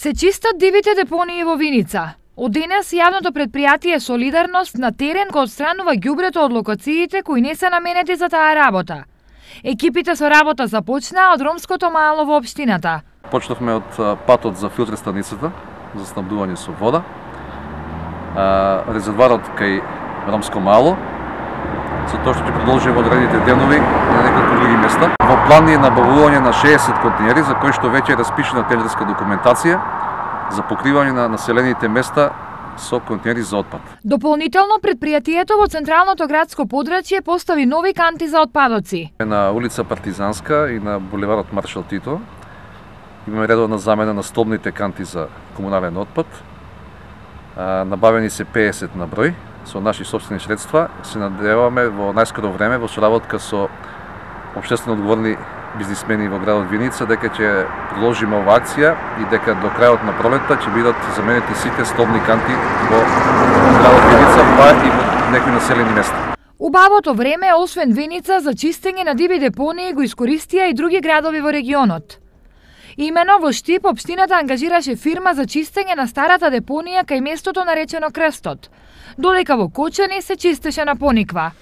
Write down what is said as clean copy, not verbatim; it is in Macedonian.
Се чистат дивите депонии во Виница. Од денес јавното предпријатие Солидарност на терен го отстранува ѓубрето од локациите кои не се наменети за таа работа. Екипите со работа започнаа од ромското мало во општината. Почнавме од патот за филтер станицата за снабдување со вода, резерварот кај ромско мало, за тоа што ќе продолжи во одредените денови и на неколку други места. Во план е набавување на 60 контейнери за кои што веќе е распишена тендерска документација за покривање на населените места со контейнери за отпад. Дополнително предпријатието во централното градско подрачје постави нови канти за отпадоци. На улица Партизанска и на булеварот Маршал Тито имаме редовна замена на столбните канти за комунален отпад. Набавени се 50 на број со наши собствени средства. Се надеваме во најскоро време во соработка со општествено одговорни бизнисмени во градот Виница дека ќе продолжиме оваа акција и дека до крајот на пролетта ќе бидат заменети сите столбни канти во градот Виница, па и во некои населени места. Убавото време, освен Виница, за чистење на диви депонии го искористија и други градови во регионот. Имено во Штип општината ангажираше фирма за чистење на старата депонија кај местото наречено Крстот, додека во Кочани се чистеше на Пониква.